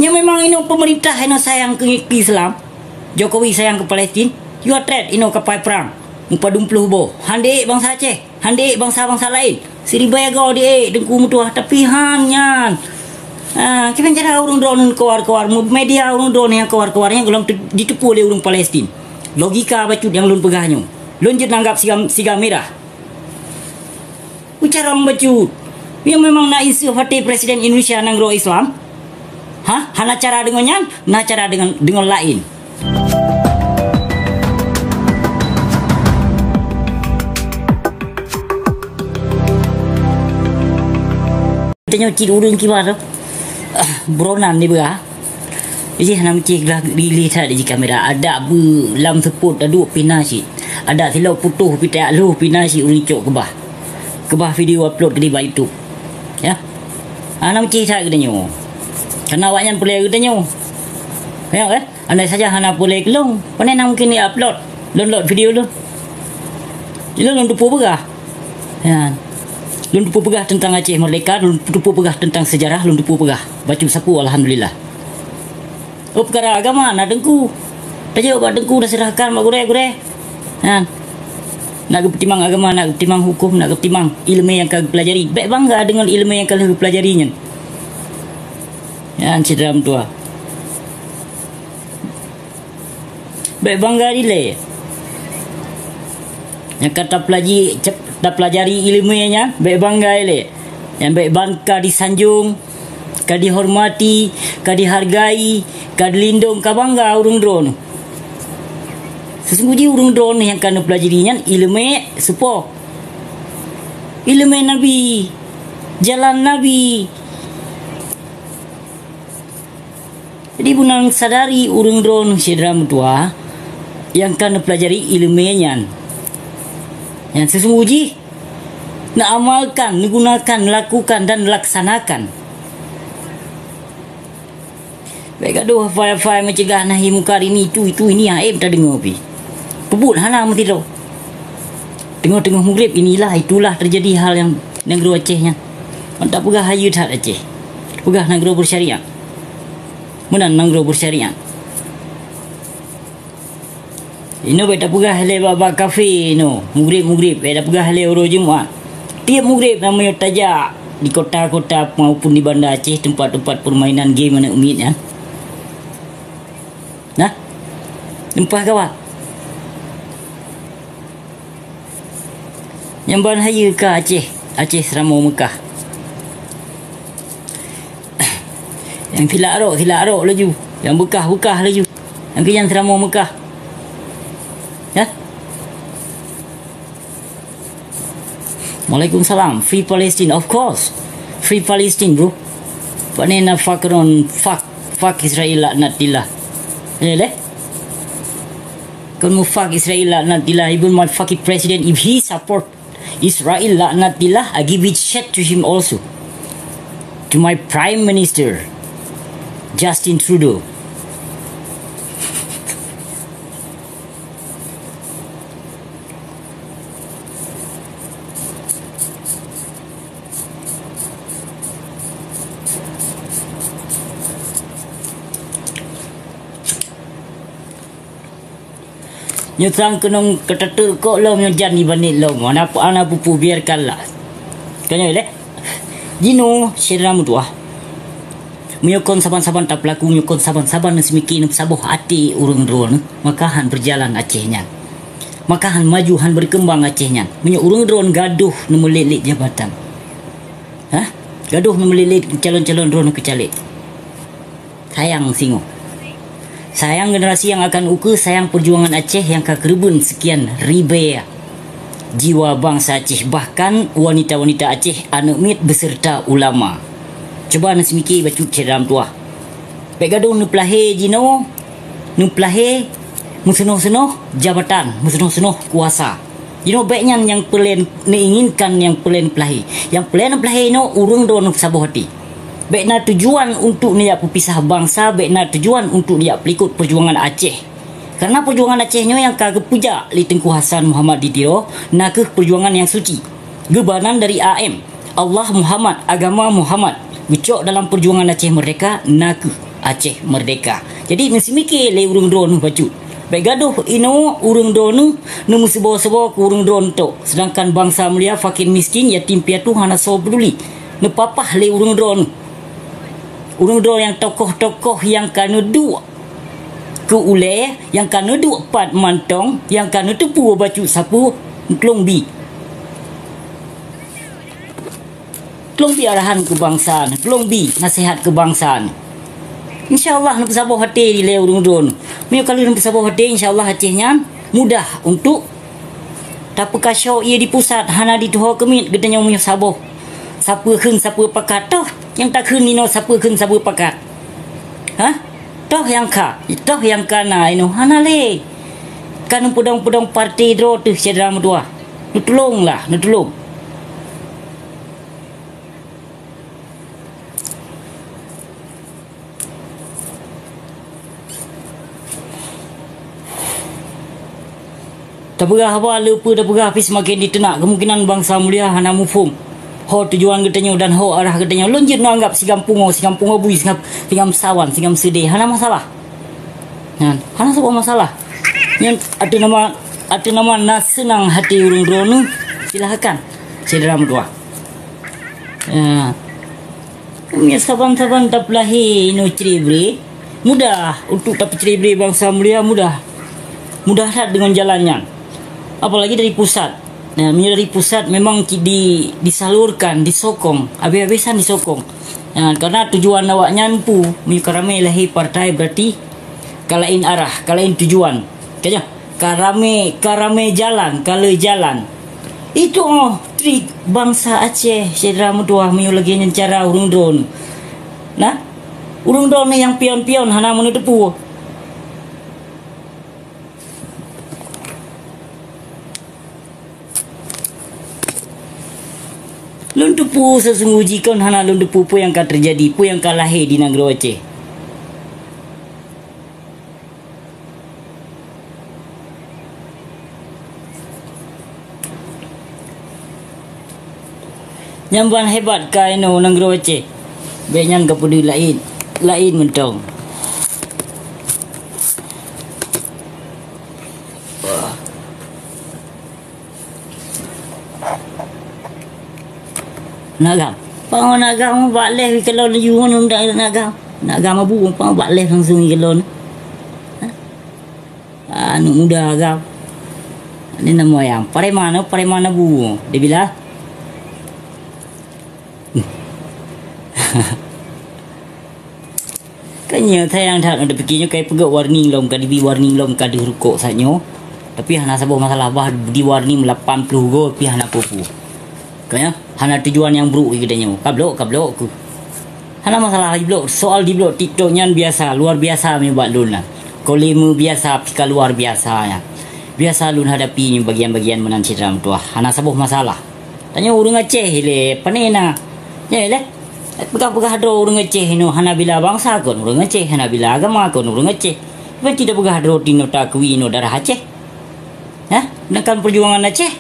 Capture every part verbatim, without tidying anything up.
Nyan memang inoe pemerintah inoe sayang keu, keu Islam. Jokowi sayang keu Palestin. You are threat inoe kapai prang. Mupadum ploh boh. Hana bansa Aceh. Hana bansa-bansa laén. Siribèe goe di, eh, Teungku meutuah. Tapi han nyan. Ah, kiban cara ureuëng droeneuh keuwar-keuwar. Media ureuëng droeneuh nyang keuwar-keuwar nyan gohlom te-, jiteupeu lé ureuëng Palestin. Logika bacut nyang lôn peugah nyoe. Lôn jeuet nanggab siga, siga mirah. Ucarong bacut. Nyang memang na inseuh até Presiden Indonesia nanggroe Islam? Hah? Hana cara deungon nyan? Na cara deungon, deungon laén. Tanyoe cit ureuëng kiban tu. Ah, buronan di beurah. Ih, hana meucih glah gili that di kamera. Adak beu lam seupôt taduek pih na cit. Adak silop putôh pih tajak lhôh pih na cit ureuëng cok keubah. Keubah video upload keudéh bak YouTube. Ya. Hana meucih that geutanyoe. Karena awaknyan peureulée geutanyoe. Ya kan? Andai saja hana peureulée keu lôn, pane na mungkin di-upload, download video lôn. Lôn, lôn teupeu peugah. Ya. Lôn teupeu peugah teuntang Aceh Merdeka, lôn teupeu peugah teuntang sejarah, lôn teupeu peugah. Bacut sapeue, alhamdulillah. Oh, peukara agama na teungku. Tajok bak teungku, taseurahkan bak gurée-gurée. Nyan. Nak geupeutimang agama, nak geupeutimang huköm, nak geupeutimang ileumé nyang ka geupelajari. Bék bangga deungon ileumé nyang ka lheueh geupelajari nyan. Nyan syedara meutuah. Bék bangga dilée. Nyang ka tapelaji-, cep-, tapelajari ileumé nyan, bék bangga ilée. Nyan bék ban ka disanjong, ka dihormati, ka dihargai, ka dilindong, ka bangga ureuëng droeneuh. Seusunggoh jih ureuëng droeneuh nyang ka neupelajari nyan ileumé soe po? Ileumé Nabi, jalan Nabi. Jadi, beunang sadari ureuëng droeneuh syedara meutuah nyang ka neupelajari ileumé nyan. Nyang seusunggoh jih neuamalkan, neugunakan, neulakukan dan neulaksanakan. Bék gadoh hafai-hafai meucegah nahi mungkar ini, itu, itu, ini, aém tadeungoe pih. Peubuet hana meusidroe. Teungoh-teungoh mugreb inilah, itulah terjadi hal nyang nanggroe Aceh nyan. Mantap peugah hayeue that Aceh. Peugah nanggroe bersyariat. Meunan nanggroe bersyariat. Inoe bék tapeugah lé bak-bak kafé inoe, mugreb-mugreb, bék tapeugah lé uroe Jumat. Tieb mugreb na meunyoe tajak di kota-kota maupun di Banda Aceh, teumpat-teumpat peurmainan game aneuëk miet nyan. Nah, lumpah gawat. Nyang ban hayeue ka Aceh, Aceh seuramoe Meukah. Nyang silak rok, silak rok laju. Nyang beukah, beukah laju. Nyang keu nyan seuramoe Meukah. Ya? Waalaikumsalam. Free Palestine, of course. Free Palestine, bro. Pane na fuck around, fuck, fuck Israel laknatillah. Ya, leh? Kon mu fuck Israel laknatillah, even my fucking president, if he support Israel laknatillah, I give it shit to him also. To my Prime Minister, Justin Trudeau. Nyoe sang keunong keuteuteuek kok lom nyoe jan ibanet lom. Hana, hana peue-peue, biarkanlah. Ka nyoe lé. Jinoe syedara meutuah. Meunyoe kon saban-saban tapeulaku, meunyoe kon saban-saban neuseumiké neupeusaboh até ureuëng droeneuh, maka han beujalan Aceh nyan. Maka han maju, han beukeumbang Aceh nyan. Meunyoe ureuëng droeneuh gadoh neumeulet-let jabatan. Hah? Gadoh neumeulet-let calon-calon droeneuh keu caleg. Sayang singoh. Sayang generasi nyang akan ukeue, sayang peujuangan Aceh nyang ka keureubeuen seukian ribèe jiwa bansa Aceh, bahkan wanita-wanita Aceh, aneuëk miet beuseureuta ulama. Cuba neuseumiké bacut syedara meutuah. Bék gadoh neupeulahé jinoe, neupeulahé meuseunoh-seunoh jabatan, meuseunoh-seunoh kuasa. Jinoe bék nyan nyang peureulée neuinginkan, nyang peureulée neupeulahé. Nyang peureulée neupeulahé jinoe ureuëng droeneuh saboh até. Bék na tujuan untuk neujak peupisah bansa, bék na tujuan untuk neujak peulikot peujuangan Aceh. Karena peujuangan Aceh nyoe nyang ka geupeujak lé Teungku Hasan Muhammad di Tiro, na kheueh peujuangan nyang suci. Geubanan dari A M, Allah Muhammad, agama Muhammad. Geucok dalam peujuangan Aceh Merdeka, na kheueh Aceh merdeka. Jadi, meusimike lé ureuëng droeneuh bacut. Bék gadôh inoe ureuëng droeneuh neumeusibo-sibo keu ureuëng droeneuh tok. Sedangkan bansa mulia, fakir miskin, yatim piatu hana soe peuduli. Neupapah lé ureuëng droeneuh. Ureuëng droeneuh nyang tokoh-tokoh nyang ka neuduek keu ulée, nyang ka neuduek pat mantong, nyang ka neuteupeue bacut sapeue, neutlong bi. Tulông bi arahan keu bansa nyoe, tulông bi naseuhat keu bansa nyoe. Insya Allah neupeusaboh até lé ureuëng droeneuh. Meunyoe ka lheueh neupeusaboh até, insya Allah Aceh nyan mudah untuk tapeukashoe ié di pusat, hana dituho keumiet geutanyoe meunyoe saboh. Sapeue kheun sapeue pakat, toh nyang takheun inoe sapeue kheun sapeue pakat. Hah? Toh nyang ka, toh nyang ka na inoe hana lé. Ka neupeudong-peudong partai droe teuh syedara meutuwah. Neutulông lah, neutulông. Tapeugah haba le peue tapeugah pih seumaken diteunak, keumungkinan bansa mulia hana muphom ho tujuan geutanyoe dan ho arah geutanyoe. Lôn jeuet neuanggab sigam pungoe, sigam pungoe bui, sigam, sigam sawan, sigam seudeh, hana masalah. Nyan, hana saboh masalah. Nyan ateueh nama, ateueh nama na seunang hati ureuëng droeneuh, silahkan. Syedara meutuwah. Ya. Meunyoe saban-saban tapeulahé inoe cre-bre, mudah untuk tapeucre-bre bansa mulia, mudah. Mudah that deungon jalan nyan. Apalagi dari pusat. Nah, meunyoe dari pusat memang ki-, di-, disalurkan, disokong, habis-habisan disokong. Nah, karena tujuan awaknyan pu, meunyoe ka ramé lahé partai berarti ka laén arah, ka laén tujuan. Ka nyoe? Ka ramé, ka ramé jalan, ka le jalan. Itu oh trik bansa Aceh, syedara meutuwah, meunyoe lagée nyan cara ureuëng droeneuh. Nah, ureuëng droeneuh nyang pion-pion hana meuneuteupeue. Lôn teupeue seusunggoh jih kon hana lôn teupeue peue nyang ka teujadi, peue nyang ka lahé di nanggroe Aceh. Nyang ban hebat ka inoe nanggroe Aceh. Bék nyan ka peudeuh laén, laén mantong. Nagam. Pang nagam bak leh kalon laju ngon nagam. Nagam abu pang bak leh langsung kalon. Ha? Aneuk muda agam. Ni nama yang preman, preman abu. Dia bilang. Kan nyoe sayang that, ada pikir nyoe kai peugah warning lom, ka dibi warning lom, ka deuh rukok saat nyoe. Tapi hana saboh masalah, bah di warning lapan puluh go, pi hana peue-peue. Ka nyoe, hana tujuan nyang buruk di geutanyoe. Ka blok, ka blok ku. Hana masalah di blok. Soal di blok TikTok nyan biasa, luar biasa meubak lôn lah. Kolime biasa, pi ka luar biasa nyan. Biasa lôn hadapi nyoe bagian-bagian meunan cit ram tuah. Hana saboh masalah. Tanyoe ureuëng Aceh ilée, pane na. Nyoe ilée. Peugah-peugah droe ureuëng Aceh inoe hana bila bansa kon ureuëng Aceh, hana bila agama kon ureuëng Aceh. Berarti tapeugah droe tinoe takui inoe darah Aceh. Hah? Sedangkan perjuangan Aceh?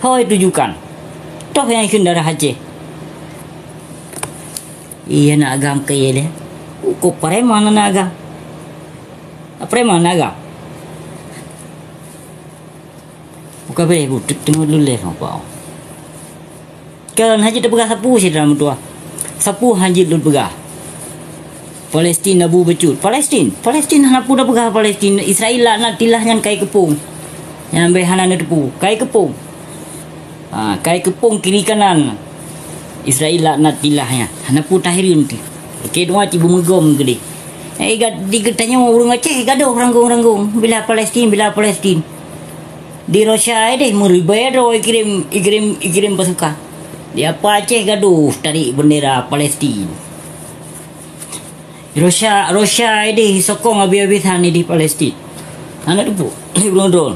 Hoi tujukan. Toh nyang ikheun darah Aceh. Iya na agam keu ilée. Uko preman na agam. Preman na agam. Bukan boleh bu, teungoh luleh apa? Kan hajat peugah sapu sih dalam dua. Sapu hajat lôn peugah. Palestin abu becut. Palestin, Palestin hana pun peugah Palestin. Israel laknat tilah nyan kai keupong. Nyan bai hana neuteupu. Kai keupong. Ha, kai keupong kiri kanan. Israel laknat tilah nyan. Hana pun tahireuen ti. Oke, dua ci bumegom gede. Eh, ga-, di geutanyoe ureuëng Aceh gadoh ranggong-ranggong. Bila Palestin, bila Palestin. Di Rusia deh meuribèe droe ikirém, ikirém, ikirém pasukan. Di apa Aceh gadoh tarék bendera Palestin. Rusia, Rusia deh sokong habis-habisan di Palestin. Hana teupeu, ureuëng droe.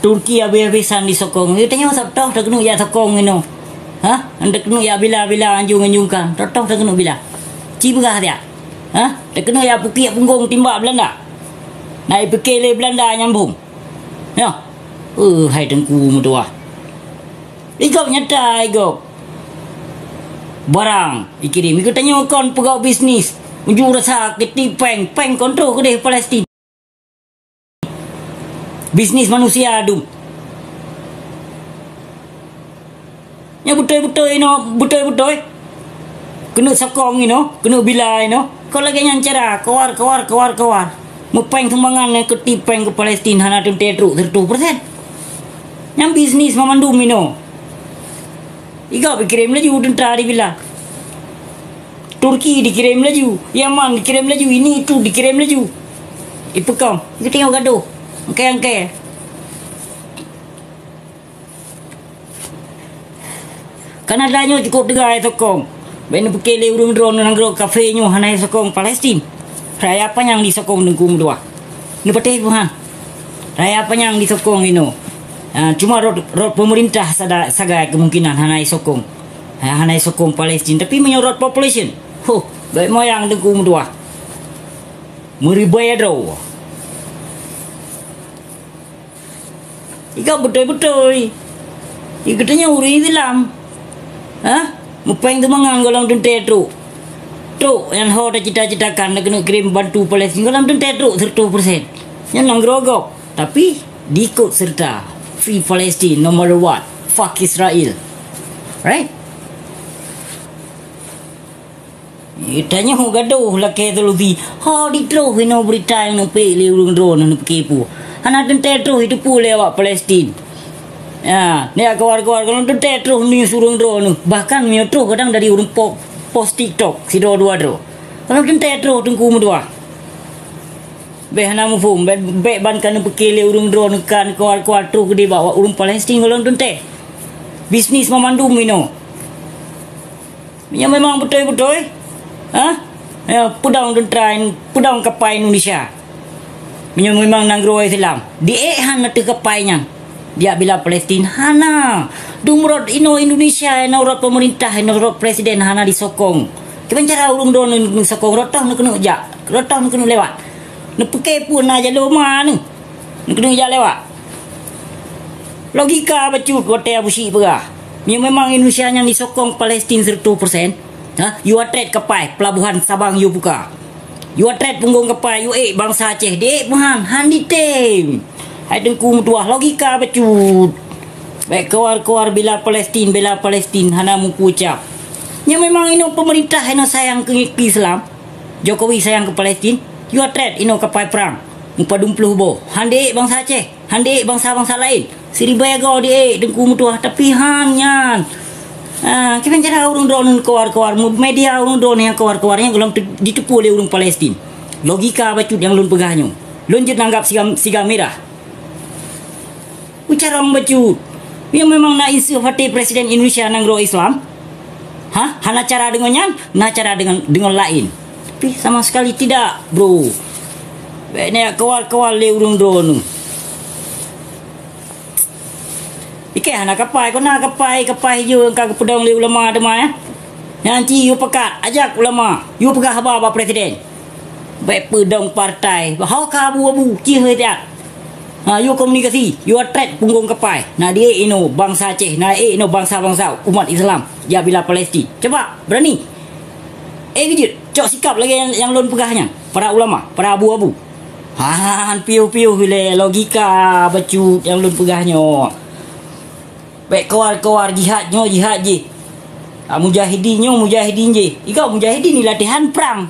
Turki habis-habisan disokong. Geutanyoe sab toh takeuneuk jak sokong inoe. Hah? Takeuneuk jak bila-bila anjung-anjungkan. Toh, toh takeuneuk bila. Ci peugah siat. Hah? Takeuneuk jak pukiek punggong timbak Belanda. Na ipike lé Belanda nyambong. Nyoh. Eh, hai Teungku meutuah. Igop nyata, igop. Barang ikirém. Ikeu tanyoe kon peugah bisnis. Unjuk rasa keuti péng, péng kontrol keudeh Palestin. Bisnis manusia dum. Nyan beutôi-beutôi inoe, beutôi-beutôi. Keuneuk sokong inoe, keuneuk bila inoe. Kon lagèe nyan cara, keuwar, keuwar, keuwar, keuwar. Meupéng sumbangan nyan keuti péng keu Palestin hana teuntèe trok siratoh persen. Nyan bisnis mamandum inoe. Igob ikirém laju teuntra dibila. Turki dikirém laju, Yaman dikirém laju, ini itu dikirém laju. Ipeukong, geutanyoe gadoh, angkée-angkée. Kanada nyoe cukup teuga sokong. Bèk neupiké lé ureueng droeneuh nanggroe kafé nyoe hana sokong Palestin. Raya panyang disokong Teungku meutuah. Neupatéh peuhan. Raya panyang disokong inoe. Ah, cuma rot, rot pemerintah sada, sagai kemungkinan hana sokong. Ha, hana sokong Palestin. Tapi meunyoe rot population, huh, bèk moyang Teungku meutuah. Meuribèe droe. Igob beutôi-beutôi. Geutanyoe ureueng Islam. Ha? Meupéng teumangang gohlom teuntèe trok. Trok nyan ho tacita-citakan, na keuneuk kirém bantu Palestin, gohlom teuntèe trok siratoh persen. Nyan nanggroe gob. Tapi diikot serta. Free Palestine no matter what. Fuck Israel. Right? Tanyoe gadoh lakèe solusi. Ho ditroh inoe beurita nyang neupék lé ureueng droeneuh neupiké peue. Hana teuntèe troh jiteupeue lé awak Palestin. Ya, neujak keuwar-keuwar, gohlom teuntèe troh news ureueng droeneuh. Bahkan meunyoe troh kadang dari ureueng po-, post TikTok sidroe dua droe. Gohlom teuntèe troh Teungku meutuah. Bèk hana muphom, bèk, bèk ban ka neupiké lé ureueng droeneuh, ka neukeuwar-keuwar troh keudéh bak ureueng Palestin gohlom teuntèe. Bisnis mamandum inoe. Meunyoe memang beutôi-beutôi, ha? Ya, peudong teuntèe, peudong kapai Indonesia. Meunyoe memang nanggroe Islam, diék han ateueh kapai nyan. Dijak bila Palestin, hana. Dum rot inoe Indonesia, inoe rot pemerintah, inoe rot presiden hana disokong. Kiban cara ureueng droeneuh neusokong, rot toh neukeuneuk jak, rot toh neukeuneuk lewat. Neupiké peue na jalô ma neuh. Neukeuneuk jak lewat. Logika bacut watèe Abu Syik peugah. Meunyoe memang Indonesia nyan disokong Palestin siratoh persen, ha, yue atret kapai pelabuhan Sabang yue buka. Yue atret punggong kapai, yue ék bansa Aceh, diék peuhan, han ditem. Hai Teungku meutuah, logika bacut. Bèk keuwar-keuwar bela Palestin, bela Palestin, hana muku ucap. Nyan memang inoe pemerintah inoe sayang keu, keu Islam. Jokowi sayang keu Palestin, yue atret inoe kapai prang. Mupadum ploh boh, han diék bansa Aceh. Han diék bansa-bansa laén. Siribèe goe diék Teungku meutuah, tapi han nyan. Ah, kiban cara ureueng droeneuh keuwar-keuwar, media ureueng droeneuh nyang keuwar-keuwar nyan gohlom teu-, jiteupeue lé ureueng Palestin. Logika bacut nyang lôn peugah nyoe. Lôn jeuet nanggab siga, siga mirah. Ucarong bacut. Nyang memang na inseuh até presiden Indonesia nanggroe Islam. Ha? Hana cara deungon nyan, na cara deungon, deungon laén. Tapi sama sekali tidak, bro. Bèk neujak keuwar-keuwar lé ureueng droeneuh. Ikèe hana kapai, kon na kapai, kapai ijo nyang ka geupeudong lé ulama teuma, ya. Nyan cit yue pakat, ajak ulama, yue peugah haba bak presiden. Bèk peudong partai, ho ka abu-abu, cih he tiat. Ha, yue komunikasi, yue atret punggong kapai. Na diék inoe bansa Aceh, na ék inoe bansa-bansa umat Islam jak bila Palestin. Cuba, berani. Eh, geujeuet, cok sikap lagèe nyang, nyang lôn peugah nyan. Para ulama, para abu-abu. Han piôh-piôh ilèe logika bacut nyang lôn peugah nyoe. Bèk keuwar-keuwar jihad nyoe, jihad jih. Ah, mujahidin nyoe, mujahidin jih. Igob mujahidin ni latihan prang.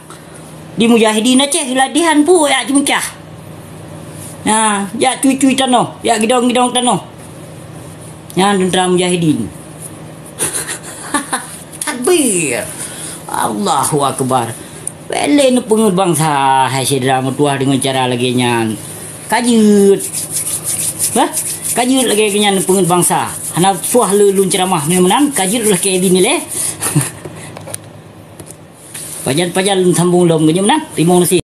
Di mujahidin Aceh latihan peue jak ceumeucah. Nah, jak cui-cui tanoh, jak gidong-gidong tanoh. Nyan teuntara mujahidin. Takbir. Allahu Akbar. Bèk lé neupeungeut bansa, hai syedara meutuah deungon cara lagèe nyan. Ka jeuet. Bah, ka jeuet lagèe nyan neupeungeut bansa. Hana puih lé lôn ceuramah nyoe meunan, ka jeuet lagèe nyan lé. Pajan-pajan lôn sambông lom nyoe meunan. Teurimong gaséh.